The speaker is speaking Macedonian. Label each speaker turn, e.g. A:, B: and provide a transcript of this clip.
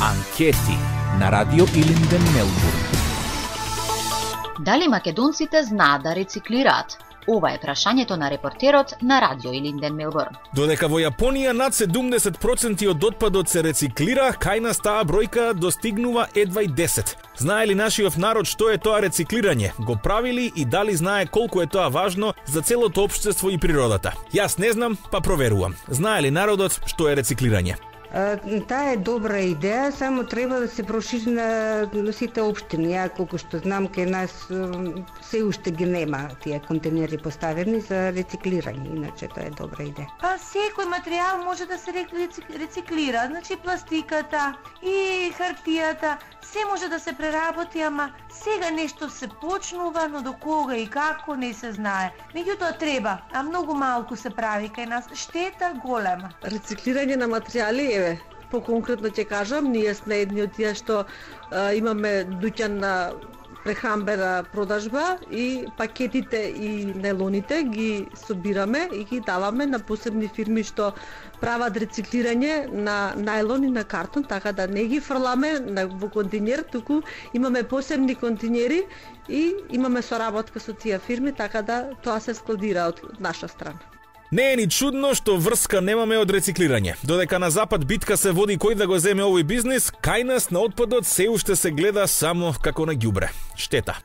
A: Анкети на Радио Илинден, Мелбурн.
B: Дали македонците знаат да рециклираат? Ова е прашањето на репортерот на Радио Илинден, Мелбурн.
C: Додека во Јапонија над 70% од отпадот се рециклира, кај нас таа бројка достигнува едва и 10. Знае ли нашиот народ што е тоа рециклирање? Го правили и дали знае колку е тоа важно за целото општество и природата? Јас не знам, па проверувам. Знае ли народот што е рециклирање?
D: Таа е добра идеја, само треба да се прошири на сите општини. Ја колку што знам, кај нас се уште ги нема тие контейнери поставени за рециклирање, иначе тоа е добра идеја.
E: Па секој материјал може да се рециклира, значи пластиката и хартијата, се може да се преработи, ама сега нешто се почнува, но до кога и како не се знае. Меѓутоа треба, а многу малку се прави кај нас, штета голема.
F: Рециклирање на материјали еве, поконкретно ќе кажам, ние сме едни од тие што имаме дуќан на прехрамбена продажба и пакетите и нелоните ги собираме и ги даваме на посебни фирми што прават рециклирање на најлон и на картон, така да не ги фрламе во контейнер, туку имаме посебни контейнери и имаме соработка со тие фирми, така да тоа се складира од наша страна.
C: Не е ни чудно што врска немаме од рециклирање. Додека на запад битка се води кој да го земе овој бизнис, кај нас на отпадот се уште се гледа само како на ѓубре. Штета.